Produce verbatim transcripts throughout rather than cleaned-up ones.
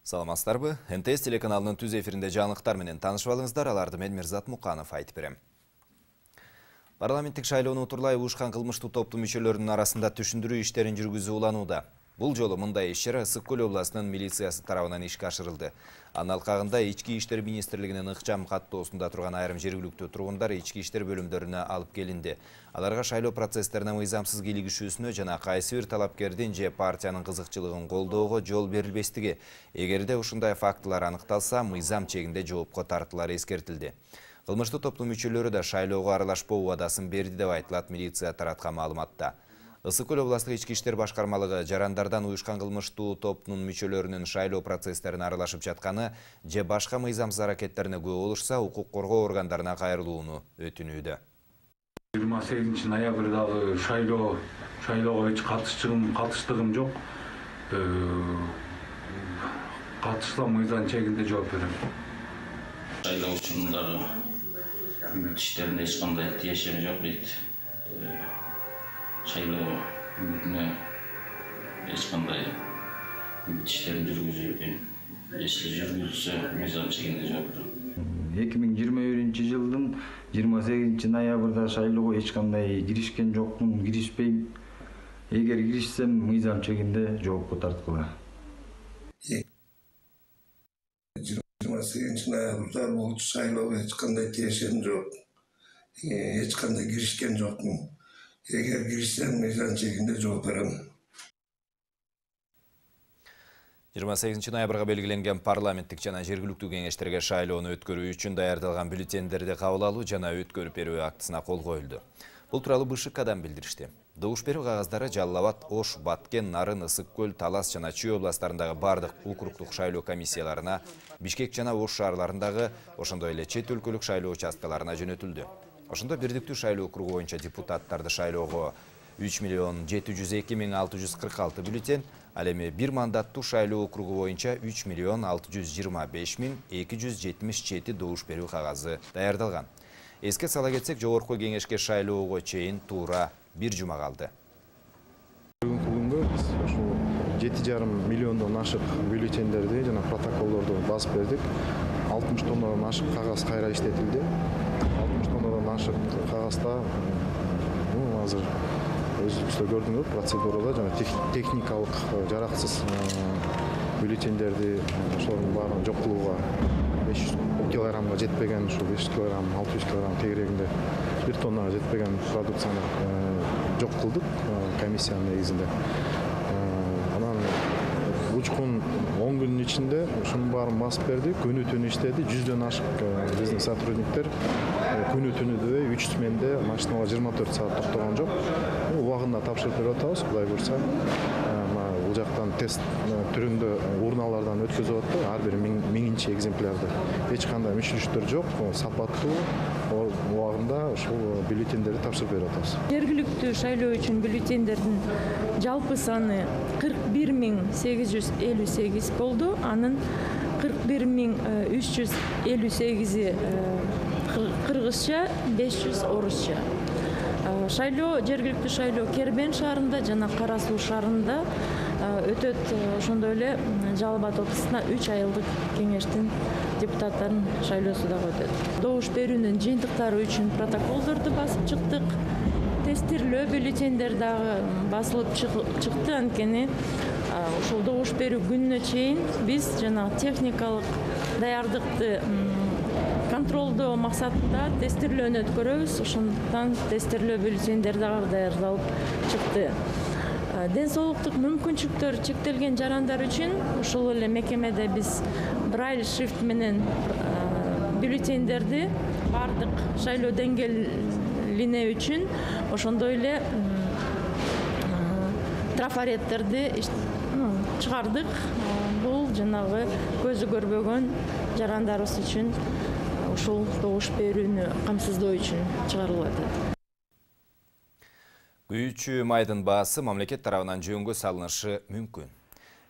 Саламатсыздарбы? эн тэ эс телеканалынын түз эфиринде жаңылыктар менен таанышып алыңыздар. Аларды мен Мирзат Муканов айтып берем. Парламенттик шайлоону утурлай уушкан кылмыштуу топтун мүчөлөрүнүн арасында түшүндүрүү иштерин жүргүзүү уланууда. Бул жолу мындай иш-чара Ысык Көл областынын милициясы тарабынан ишке ашырылды. Анын алкагында Ички иштер министрлигинин ыкчам каттоосунда турган айрым жергиликтүү тургундар ички иштер бөлүмдөрүнө алып келинди. Аларга шайлоо процесстерине мыйзамсыз кийлигишүүсүнө жана кайсы бир талапкердин же партиянын кызыкчылыгын колдоого жол берилбестиги, эгерде ушундай фактылар аныкталса, мыйзам чегинде жоопко тартылары эскертилди. Кылмыштуу топтун мүчөлөрү да шайлоого аралашпоо убадасын берди деп айтылат милиция тараткан маалыматта. Ысык Көл областык ички иштер башкармалыгы жарандардан уюшкан кылмыштуу топтун мүчөлөрүнүн шайлоо процесстерине аралашып жатканы же башка мыйзамсыз аракеттерине күбө болушса, укук коргоо органдарына кайрылууну өтүнүүдө. жыйырма сегизинчи ноябрдагы шайлоо шайлоого эч катышчылыгым катыштыгым жок. Катышсам мыйзам чегинде жооп берем. Шайлоо учурундагы иштеринде эч кандай тиешеги жок дейт. Шайлоо үмүтүнө эч кандай иштерин жүргүзүү, эшли жүргүзүлсө мыйзам чегинде жооп берем. эки миң жыйырма биринчи жылдын жыйырма сегизинчи ноябрда шайлоого эч кандай киришкен жокмун, киришпейм. Эгер киришсем, мыйзам чегинде жоопко тартылгыла. жыйырма сегизинчи ноябрда бул шайлоого эч кандай тиешем жок. Эч кандай киришкен жокмун. Эгер киришсем, мыйзам чегинде жооп берем. жыйырма сегизинчи ноябрга белгиленген парламенттик жана жергиликтүү кеңештерге шайлоону өткөрүү үчүн даярдалган бюллетендерди кабыл алуу жана өткөрүп берүү актысына кол коюлду. Бул тууралуу БШКдан билдиришти. Добуш берүү кагаздары Жалал Абад, Ош, Баткен, Нарын, Ысык Көл, Талас жана Чүй областарындагы бардык округдук шайлоо комиссияларына, Бишкек жана Ош шаарларындагы, ошондой эле чет өлкөлүк шайлоо участкаларына жөнөтүлдү. Ошондо бирдиктүү шайлоо округу боюнча депутаттарды шайлоого үч миллион жети жүз эки миң алты жүз кырк алты бюллетен, ал эми бир мандаттуу шайлоо округу боюнча үч миллион алты жүз жыйырма беш миң эки жүз жетимиш жети добуш берүү кагазы даярдалган. Эске сала кетсек, жогорку кеңешке шайлоого чейин туура бир жума калды. Бүгүнкү күнгө биз ушул жети жарым миллиондон ашык бюллетендерди жана протоколдорду басып бердик. алтымыш тоннадан ашык кагаз кайра иштетилди. алтымыш тоннадан ашык кагазда азыр өзүңүздөр көрдүңөр процедурада жана техникалык жараксыз бюллетендерди ошолордун баарын жок кылууга беш жүз килограммга жетпеген, ушул беш жүз килограмм, алты жүз килограмм тегерегинде бир тоннага жетпеген продукцияны жок кылдык комиссиянын негизинде. Анан учкун он күндүн ичинде ушунун баарын басып бердик, күнү түнү иштеди, жүздөн ашык биздин сотрудниктер күнү түнү дебей үч сменде машиналар жыйырма төрт саат токтогон жок. Убагында тапшырып берип атабыз, Кудай буйрса. Бул жактан тест түрүндө урналардан өткөзүп атты, ар бир миңинчи экземплярды. Эч кандай мүчүлүштөр жок, сапаттуу убагында ушул бюллетендерди тапшырып берип атабыз. Жергиликтүү шайлоо үчүн бюллетендердин жалпы саны кырк бир миң сегиз жүз элүү сегиз болду. Анын кырк бир миң үч жүз элүү сегизи кыргызча, беш жүз орусча. Шайлоо, жергиликтүү шайлоо Кербен шаарында жана Кара Суу шаарында өтөт. Ошондой эле Жалал Абад областына үч айылдык кеңештин депутаттарын шайлоосу дагы өтөт. Добуш берүүнүн жыйынтыктары үчүн протоколдорду басып чыктык. Тестирлөө бюллетендер дагы басылып чыкты. Анткени ушул добуш берүү күнүнө чейин биз жана техникалык даярдыкты контролдоо максатында тестирлөөнү өткөрөбүз. Ошондуктан тестирлөө бюллетендер дагы даярдалып чыкты. Ден соолуктук мүмкүнчүлүктөрү чектелген жарандар үчүн ушул эле мекемеде биз брайль шрифт менен бюллетендерди бардык шайлоо деңгээлине үчүн ошондой эле трафареттерди чыгардык. Бул жанагы көзү көрбөгөн жарандарыбыз үчүн ушул добуш берүүнү камсыздоо үчүн чыгарылып атат. Күйүүчү майдын баасы мамлекет тарабынан жөнгө салынышы мүмкүн.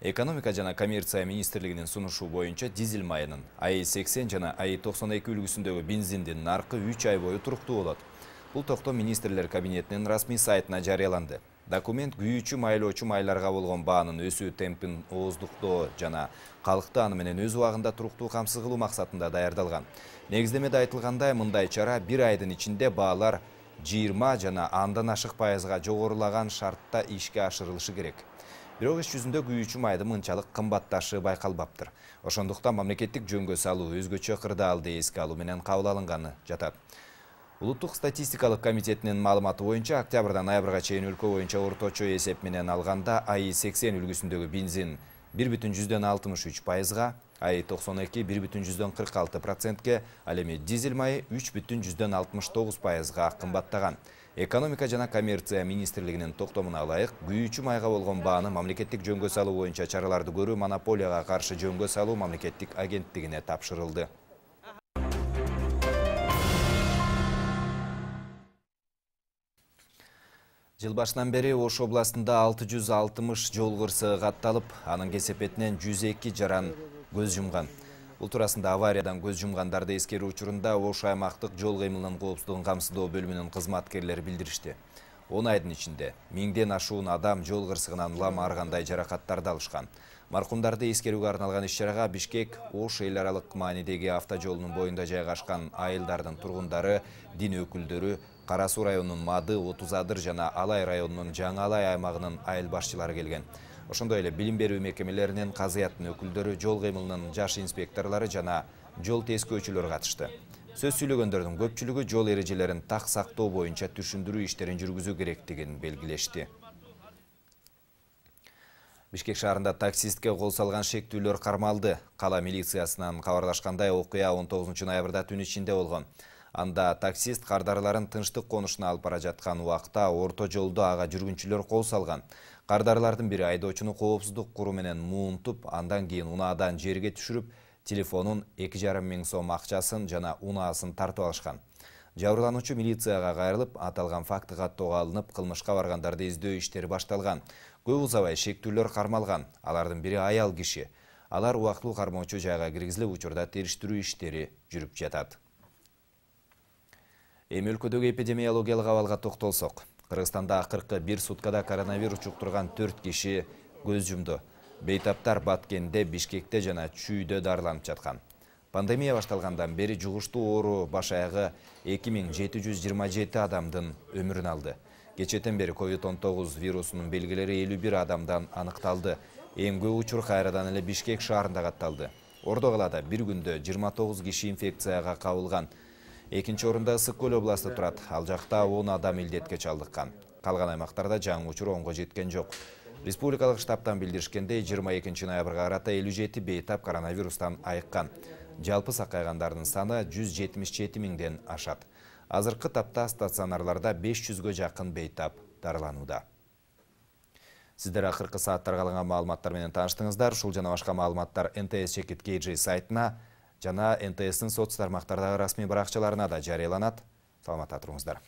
Экономика жана коммерция министрлигинин сунушу боюнча дизель майынын А И сексен жана А И токсон эки үлгүсүндөгү бензиндин наркы үч ай бою туруктуу болот. Бул токтом министрлер кабинетинин расмий сайтына жарыяланды. Документ күйүүчү майлоочу майларга болгон баанын өсүү темпин ооздуктоо жана калкты аны менен өз убагында туруктуу камсыз кылуу максатында даярдалган. Негиздемеде айтылгандай, мындай чара бир айдын ичинде баалар жыйырма жана андан ашык пайызга жогорулаган шартта ишке ашырылышы керек. Бирок иш жүзүндө күйүүчү майдын мынчалык кымбатташы байкалбаптыр. Ошондуктан мамлекеттик жөнгө салуу өзгөчө кырдаалды эске алуу менен кабыл алынганы жатат. Улуттук статистикалык комитетинин маалыматы боюнча октябрдан ноябрга чейин өлкө боюнча орточо эсеп менен алганда АИ сексен үлгүсүндөгү бензин бир бүтүн жүздөн алтымыш үч пайызга, АИ токсон эки бир бүтүн жүздөн кырк алты процентке, ал эми дизель майы үч бүтүн жүздөн алтымыш тогуз пайызга кымбаттаган. Экономика жана коммерция министрлигинин токтомуна ылайык, күйүүчү майга болгон бааны мамлекеттик жөнгө салуу боюнча чараларды көрүү монополияга каршы жөнгө салуу мамлекеттик агенттигине тапшырылды. Жыл башынан бери Ош областында алты жүз алтымыш жол кырсыгы катталып, анын кесепетинен жүз эки жаран көз жумган. Бул туурасында авариядан көз жумгандарды эскерүү учурунда Ош аймактык жол кыймылынын коопсуздугун камсыздоо бөлүмүнүн кызматкерлери билдиришти. он айдын ичинде миңден ашуун адам жол кырсыгынан улам ар кандай жаракаттарды алышкан. Маркумдарды эскерүүгө арналган иш-чарага Бишкек Ош эл аралык маанидеги автожолунун боюнда жайгашкан айылдардын тургундары, дин өкүлдөрү, Кара Суу районунун Мады, Отуз Адыр жана Алай районунун Жаңы Алай аймагынын айыл башчылары келген. Ошондой эле билим берүү мекемелеринин, казыяттын өкүлдөрү, жол кыймылынын жаш инспекторлору жана жол тескөөчүлөр катышты. Сөз сүйлөгөндөрдүн көпчүлүгү жол эрежелерин так сактоо боюнча түшүндүрүү иштерин жүргүзүү керектигин белгилешти. Бишкек шаарында таксистке кол салган шектүүлөр кармалды. Кала милициясынан кабарлашкандай, окуя он тогузунчу ноябрда түн ичинде болгон. Анда таксист кардарларын тынчтык конушуна алып бара жаткан убакта орто жолдо ага жүргүнчүлөр кол салган. Кардарлардын бири айдоочуну коопсуздук куру менен муунтуп, андан кийин унаадан жерге түшүрүп, телефонун эки жарым миң сом акчасын жана унаасын тартып алышкан. Жабырлануучу милицияга кайрылып, аталган факты каттоого алынып, кылмышка баргандарды издөө иштери башталган. Көп узабай шектүүлөр кармалган. Алардын бири аял киши. Алар убактылуу кармоочу жайга киргизилип, учурда териштирүү иштери жүрүп жатат. Эми өлкөдөгү эпидемиологиялык абалга токтолсок. Кыргызстанда акыркы бир суткада коронавирус жуктурган төрт киши көз жумду. Бейтаптар Баткенде, Бишкекте жана Чүйдө дарыланып жаткан. Пандемия башталгандан бери жугуштуу оору баш аягы эки миң жети жүз жыйырма жети адамдын өмүрүн алды. Кечетен бери ковид он тогуз вирусунун белгилери элүү бир адамдан аныкталды. Эң көп учур кайрадан эле Бишкек шаарында катталды. Ордо калаада бир күндө жыйырма тогуз киши инфекцияга кабылган. Экинчи орунда Ысык Көл областы турат. Ал жакта он адам илдетке чалдыккан. Калган аймактарда жаңы учур онго жеткен жок. Республикалык штабтан билдиришкендей, жыйырма экинчи ноябрга карата элүү жети бейтап коронавирустан айыккан. Жалпы сакайгандардын саны жүз жетимиш жети миңден ашат. Азыркы тапта стационарларда беш жүзгө жакын бейтап дарыланууда. Сиздер акыркы сааттарга алынган маалыматтар менен тааныштыңыздар. Ушул жана башка маалыматтар эн тэ эс чекит кей джи сайтына жана эн тэ эстин соц тармактардагы расмий баракчаларына да жарыяланат. Саламатта туруңуздар.